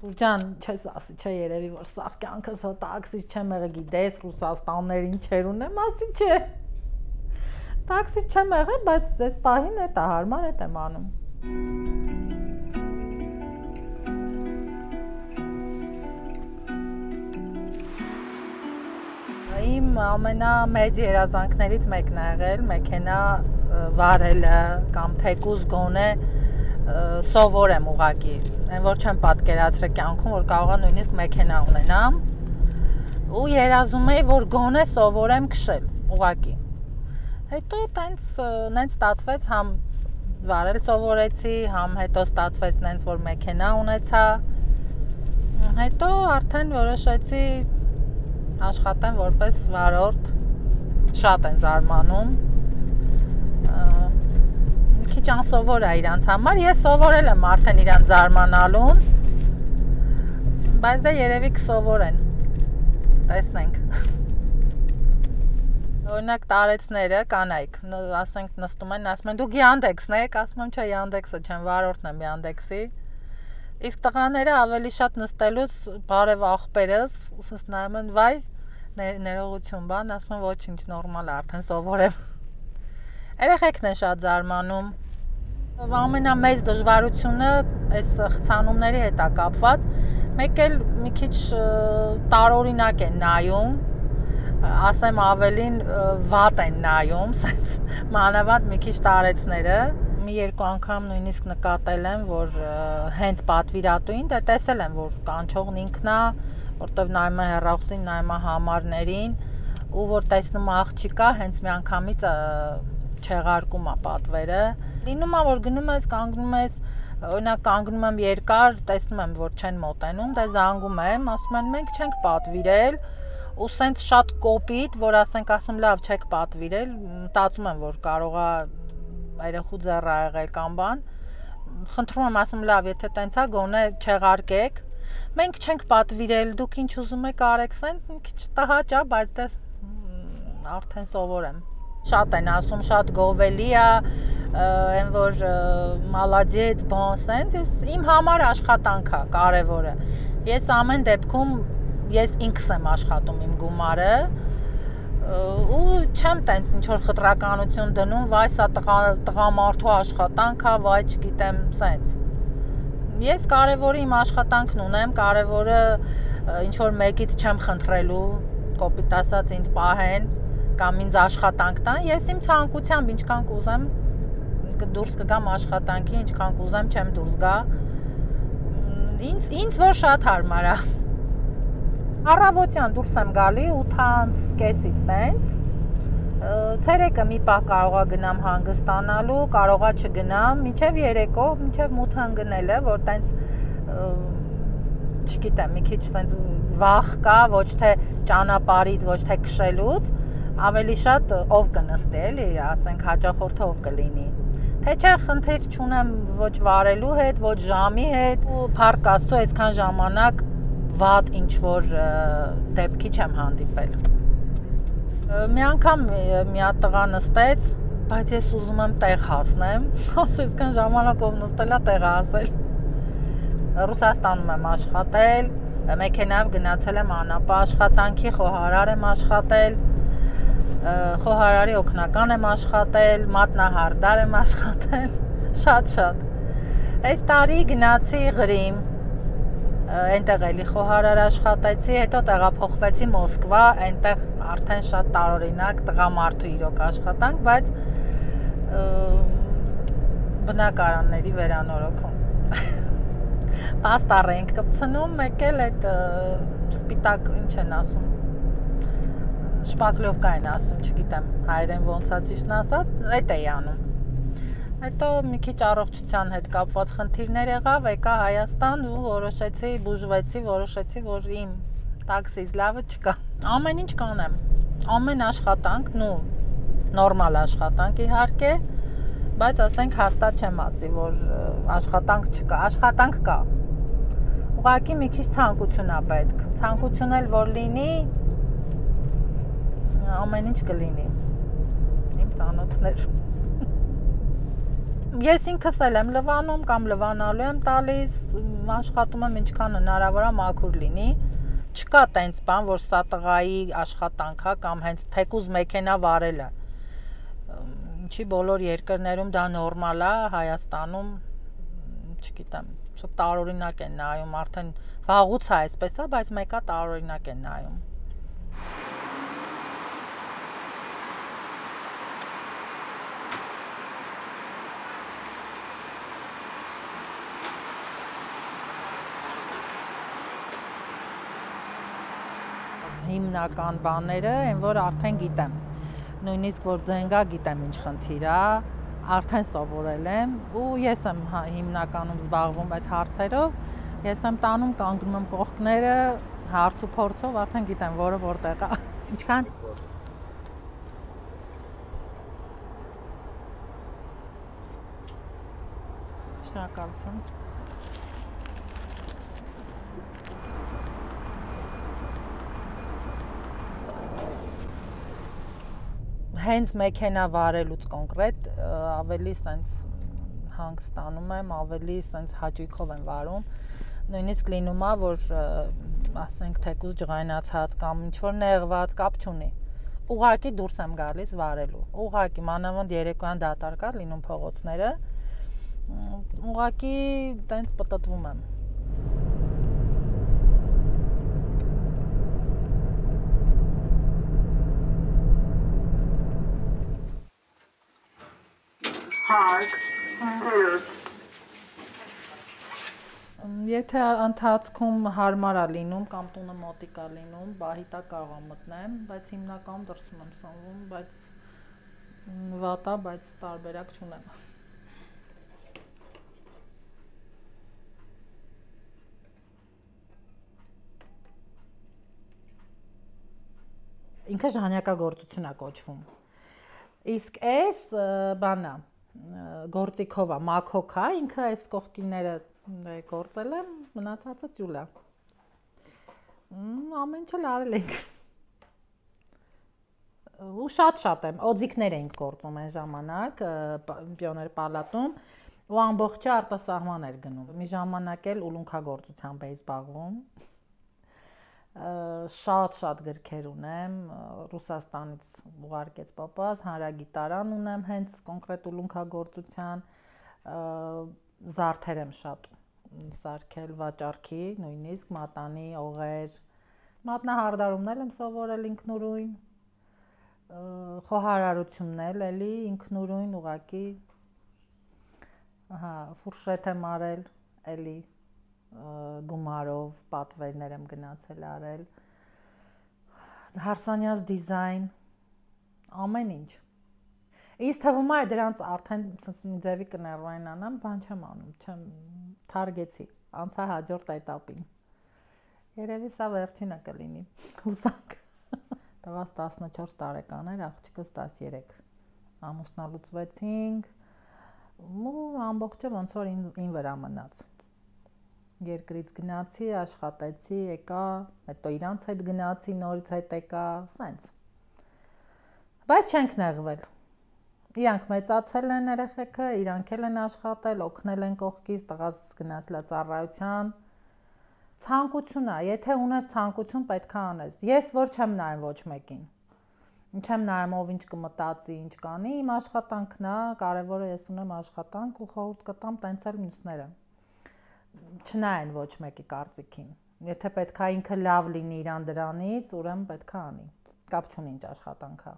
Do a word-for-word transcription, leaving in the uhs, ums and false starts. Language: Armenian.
Ջան, չես ասի, չէ երևի որ սաղ կյանքս հո տաքսից չեմ եղել, գիտես Ռուսաստաններին չեր ունեմ, ասի չէ։ Տաքսից չեմ եղել, բայց այս պահին է տա հարմար է եմ անում։ Իմ ամենամեծ երազանքներից մեկն է եղել մեքենա վարելը կամ թեկուզ գոնե սովորեմ ուղղակի, այն որ չեմ պատկերացրել կյանքում, որ կարող եմ նույնիսկ մեքենա ունենամ ու երազում էի, որ գոնե սովորեմ քշել ուղղակի։ Հետո տենց նենց ստացվեց, համ վարել սովորեցի, համ հետո ստացվեց նենց որ մեքենա ունեցա։ Հետո արդեն որոշեցի աշխատեմ որպես վարորդ, շատ են զարմանում, մի քիչ անսովոր է իրանց համար, ես սովորել եմ արդեն իրան զարմանալուն, բայց դե երևի կսովորեն, տեսնենք։ Օրինակ տարեցները, կանայք, ասենք նստում են, ասում են դուք Յանդեքսն եք, ասում եմ չէ Յանդեքսը չեմ, վարորդն եմ Յանդեքսի, իսկ տղաները ավելի շատ նստելուց բարև աղբերս, ուսս նայում են վայ, ներողություն բան, ասում եմ ոչինչ, նորմալ է, արդեն սովորեմ։ Երեխեքն են շատ զարմանում։ Ամենամեծ դժվարությունը այս խցանումների հետ է կապված, մեկ էլ մի քիչ տարօրինակ են նայում, ասեմ ավելին վատ են նայում, մանավանդ մի քիչ տարեցները։ Մի երկու անգամ նույնիսկ նկատել եմ, որ հենց պատվիրատուին դե տեսել եմ, որ կանչողն ինքն է, որտեվ նայում է հեռախոսին, նայում է համարներին, ու որ տեսնում է աղջիկա, հենց մի անգամից չեղարկում է պատվերը։ Լինում է, որ գնում ես, կանգնում ես, օրինակ կանգնում եմ երկար, տեսնում եմ, որ չեն մոտենում, դե զանգում եմ, ասում են մենք չենք պատվիրել, ու սենց շատ կոպիտ, որ ասենք ասում լավ չեք պատվիրել, մտածում եմ, որ կարող է երեխու ձեռ ա եղել կամ բան, խնդրում եմ ասում լավ, եթե տենց է գոնե չեղարկեք, մենք չենք պատվիրել, դուք ինչ ուզում եք արեք, սենց մի քիչ տհաճ է, բայց դες արդեն սովորեմ։ Շատ են ասում, շատ գովելի է, այն որ մալադեց, բան սենց, ես իմ համար աշխատանք է, կարևորը։ Ես ամեն դեպքում ես ինքս եմ աշխատում իմ գումարը ու չեմ տենց ինչ-որ խտրականություն դնում, վայ սա տղամարդու աշխատանք է, վայ չգիտեմ սենց։ Ես կարևորը իմ աշխատանքն ունեմ, կարևորը ինչ-որ մեկից չեմ խնդրելու, կոպիտ ասած ինձ պահեն կամ ինձ աշխատանք տան, ես իմ ցանկությամբ ինչքան կուզեմ դուրս կգամ աշխատանքի, ինչքան կուզեմ չեմ դուրս գա, ինձ, ինձ որ շատ հարմար է։ Առավոտյան դուրս եմ գալի ութ կեսից տենց, ցերեկը մի պահ կարողա գնամ հանգստանալու, կարողա չգնամ, մինչև երեկո, մինչև մութ ընկնելը, որ տենց չգիտեմ, մի քիչ տենց վախ կա, ոչ թե ճանապարհից, ոչ թե քշելուց, ավելի շատ ով կնստի, էլի, ասենք հաճախորդը ով կլինի։ Թե չէ խնդիր չունեմ ոչ վարելու հետ, ոչ ժամի հետ, ու փառք Աստծո այսքան ժամանակ վատ ինչ-որ դեպքի չեմ հանդիպել։ Մի անգամ մի հատ տղա նստեց, բայց ես ուզում եմ տեղ հասնեմ, ասես այսքան ժամանակով նստելա տեղ հասել։ Ռուսաստանում եմ աշխատել, մեքենայով գնացել եմ անապա աշխատանքի, խոհարար եմ աշխատել, խոհարարի օգնական եմ աշխատել, մատնահարդար եմ աշխատել, շատ-շատ։ Այս տարի գնացի Ղրիմ, այնտեղ էլի խոհարար աշխատեցի, հետո տեղափոխվեցի Մոսկվա, այնտեղ արդեն շատ տարօրինակ տղամարդու իրոք աշխատանք, բայց բնակարանների վերանորոգում։ Պաստառ ենք կպցնում, մեկ էլ այդ սպիտակ ինչ են ասում, շպակլովկա են ասում, չգիտեմ հայերեն ոնց է ճիշտն ասած, այդ էի անում։ Հետո մի քիչ առողջության հետ կապված խնդիրներ եղավ, եկա Հայաստան ու որոշեցի, բուժվեցի, որոշեցի, որ իմ տաքսից լավը չկա։ Ամեն ինչ կանեմ, ամեն աշխատանք, նու նորմալ աշխատանք իհարկե, բայց ասենք հաստատ չեմ ասի, որ աշխատանք չկա, աշխատանք կա։ Ուղղակի մի քիչ ցանկություն է պետք, ցանկություն էլ որ լինի, ամեն ինչ կլինի։ Իմ ծանոթներ Ես ինքս էլ եմ լվանում կամ լվանալու եմ տալիս, աշխատում եմ ինչքան հնարավոր է մաքուր լինի։ Չկա տենց բան, որ սա տղայի աշխատանք է կամ հենց թեկուզ մեքենա վարելը։ Ինչի բոլոր երկրներում դա նորմալ է, Հայաստանում չգիտեմ, շատ տարօրինակ են նայում, արդեն վաղուց է այսպես է, բայց մեկը տարօրինակ են նայում։ Հիմնական բաները, այն որ արդեն գիտեմ։ Նույնիսկ որ ձենգա գիտեմ ինչ խնդիր է, արդեն սովորել եմ ու ես եմ հիմնականում զբաղվում այդ հարցերով, ես եմ տանում կանգնում եմ կողքները, հարց ու փորձով արդեն գիտեմ որը որտեղ է։ Ինչքան Շնորհակալություն։ Հենց մեքենա վարելուց կոնկրետ ավելի սենց հանգստանում եմ, ավելի սենց հաճույքով եմ վարում։ Նույնիսկ լինում է, որ ասենք թեկուզ ջղայնացած կամ ինչ-որ նեղված կապ չունի։ Ուղղակի դուրս եմ գալիս վարելու։ Ուղղակի մանավանդ երեկոյան դատարկ է լինում փողոցները։ Ուղղակի տենց պտտվում եմ։ Եթե ընթացքում հարմար է լինում կամ տունը մոտիկ է լինում, բահիտա կարող եմ մտնեմ, բայց հիմնականում դրսում եմ սնվում, բայց վատ է, բայց տարբերակ չունեմ։ Ինքը ժանյակագործություն է կոչվում։ Իսկ այս բանա գործիքով է, մաքոք է, ինքը այս կողքինները գործել եմ, մնացածը ճուլ է։ Ամեն ինչ էլ արել ենք։ Ու շատ-շատ եմ, օձիքներ էինք գործում այն ժամանակ Պիոներ պալատում ու ամբողջը արտասահման էր գնում։ Մի ժամանակ էլ ուլունքագործությամբ էի զբաղվում։ Շատ-շատ գրքեր ունեմ, Ռուսաստանից ուղարկեց պապաս, հանրագիտարան ունեմ հենց կոնկրետ ուլունքագործության, զարդեր եմ շատ սարքել վաճառքի, նույնիսկ մատանի, օղեր, մատնահարդարումներ եմ սովորել ինքնուրույն, խոհարարություններ էլի ինքնուրույն ուղղակի, ֆուրշետ եմ արել, էլի գումարով պատվերներ եմ գնացել արել, հարսանյաց դիզայն, ամեն ինչ։ Ինձ թվում է դրանց արդեն մի ձևի կներվային անամ, բան չեմ անում, չեմ թարգեցի, անցա հաջորդ этаպին։ Երևի սա վերջինը կլինի, հուսանք։ Տղաս տասնչորս տարեկան էր, աղջիկս տասներեք։ Ամուսնալուծվեցինք, ու ամբողջը ոնց որ ին վրա մնաց։ Երկրից գնացի, աշխատեցի, եկա, հետո իրանց հետ գնացի, նորից հետ եկա, սենց։ Բայց չենք նեղվել։ Իրանք մեծացել են երեխեքը, իրանք էլ են աշխատել, օգնել են կողքից, տղաս գնացել է ծառայության։ Ցանկություն է, եթե ունես ցանկություն, պետք է անես։ Ես որ չեմ նայում ոչ մեկին։ Չեմ նայում ով ինչ կմտածի, ինչ կանի, իմ աշխատանքն է, կարևորը ես ունեմ աշխատանք ու խորհուրդ կտամ տենց էլ մյուսները։ Չնայեն ոչ մեկի կարծիքին։ Եթե պետք է ինքը լավ լինի իրան դրանից, ուրեմն պետք է անի։ Կապ չունի ինչ աշխատանք է։